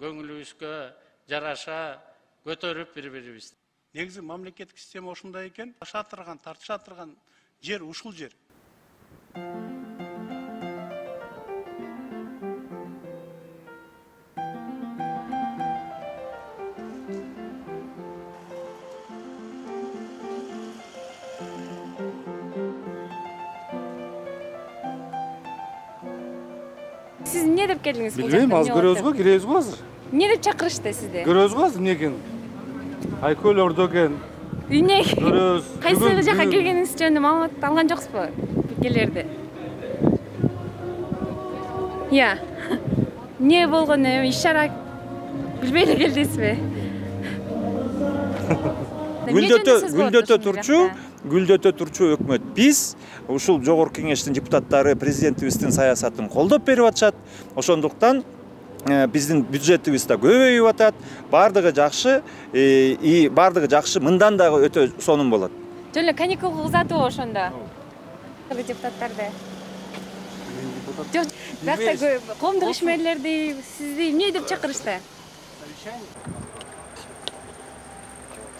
көңүлүбүзгө жараша көтөрүп бири-бирибизди. Негизи мамлекеттик система ушундай экен, тартыша турган жер ушул жер. Siz ne dep geldiniz? Bilmeyim, az görüyoruz mu? Gireyiz mi hazır? Ne dep çakırıştı sizde? Görüyoruz mu hazır? Ne gen? Aykol ordoken. Ne? Görüyoruz. Kayсы жака келгениңиз жөнүндө маалымат алган жоксузбу? Келерди. Я. Не болгону иш-чара билбей эле келдисизби? Гүлдөтө турчу өкмөт биз ушул жогорку кеңештин депутаттары президентибиздин саясатын колдоп берип атышат. Ошондуктан биздин бюджетибиз да көбөйүп атат. Бардыгы жакшы, бардыгы жакшы, мындан дагы өтө сонун болот. Жөн эле каникулга узатуу ошондо. Депутаттарды. Жок, бакта коомдук ишмерлерди сизди эмне деп чакырышты?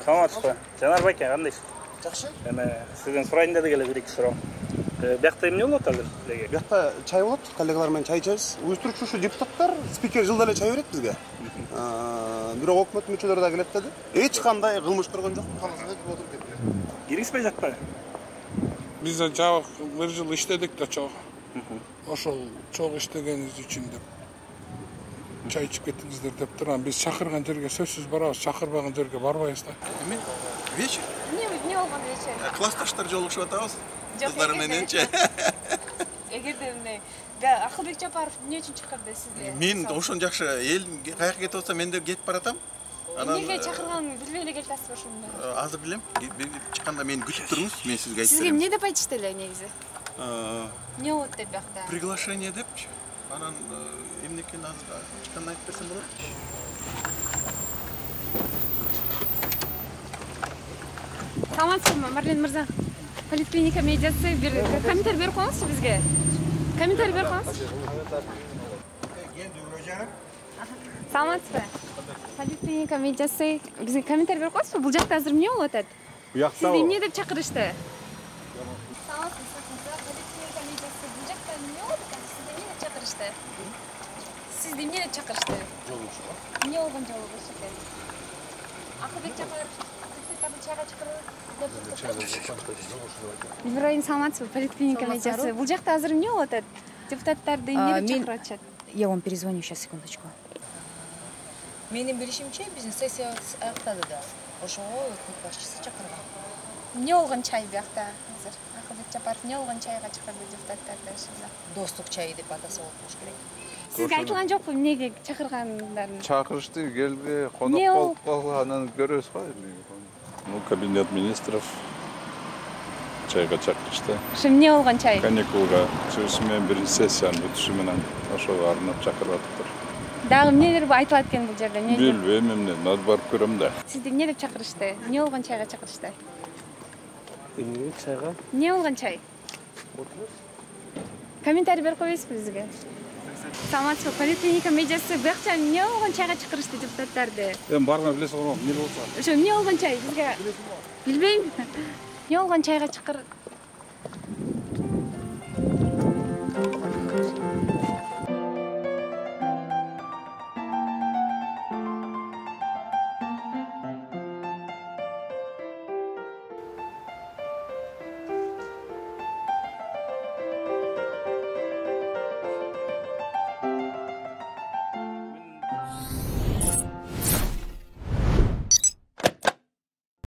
Саламатсызбы? Жанар байке, кандайсыз? Жакшы. Сизден сурайын дедик эле бир-эки суроо. Биякта эмне болот азыр силерге? Биякта чай болот, коллегалар менен чай ичебиз. Уюштуруучу ушу депутаттар, спикер жылда эле чай берет бизге. Бирок өкмөт мүчөлөрү да келет деди. Эч кандай кылмыш көргөн жок, калган деп отуруп кетти. Киргизбей жатпайбы? Биз да жабык бир жыл иштедик да чогуу. Ошол чогуу иштегенибиз үчүн деп чай ичип кеттиңиздер деп турам. Биз чакырган жерге сөзсүз барабыз, чакырбаган жерге барбайбыз да. Эми вечер. Не болгон вечер? Классташтар жолугушуп атабыз. Кыздар мененчи. Эгерде эмне Акылбек Жапаров эмне үчүн чакырды сизди? Мен ошон жакшы эл каяка кетип атса мен да кетип баратам. Эмнеге чакырганын билбей эле келип атасызбы ошондо? Азыр билем. Чыкканда мени күтүп туруңуз, мен сизге айтып берем. Сизге эмне деп айтышты эле негизи? Эмне болот деп биякта? Приглашение депчи. Анан эмне экенин азыр чыкканда айтып берсем болот. Саламатсызбы, Марлен мырза? Поликлиника медиасы бир комментарий берип коюңузчу бизге. Комментарий берип коюңуз. Саламатсызбы? Поликлиника медиасы бизге комментарий берип коюңузчу. Бул жакта азыр эмне болуп атат? Сизди эмне деп чакырышты? Саламатсызбы, поликлиника медиасы бул жакта эмне болуп атат? Сизди эмне деп чакырышты? Сизди эмне деп чакырышты? Жолугушууга. Эмне болгон жолугуш экен? Акылбек Жапаров чайга чакырып Ибраим, саламатсызбы? Поликлиника медиасы. Бул жакта азыр эмне болуп атат? Депутаттарды эмне деп чакырып атышат? Я вам перезвоню сейчас, секундочку. Менин билишимче, биздин сессия аяктады да. Ошого өкмөт башчысы чакырган. Эмне болгон чай биякта азыр? Акылбек Жапаров эмне болгон чайга чакырды депутаттарды ошондо? Достук чайы деп атаса болуш керек. Сизге айтылган жокпу эмнеге чакыргандарын? Чакырышты, келби, конок болуп калган, анан көрөбүз го. Кабинет министров чайга чакырышты. Ошо эмне болгон чай? Каникулга чыгышы менен биринчи сессиянын бүтүшү менен ошого арнап чакырып атыптыр. Дагы эмнелер айтылат экен бул жерде? Билбейм, эмне, надо барып көрөм да. Сизди эмне деп чакырышты? Эмне болгон чайга чакырышты? Эмне чайга? Эмне болгон чай? Комментарий берип коесузбу бизге? Саламатсызбы? Поликлиника медиасы биякча эмне болгон чайга чакырышты депутаттарды? Эми бармай билесиз го, эмне болсо. Ошо эмне болгон чай бизге? Билбейм. Эмне болгон чайга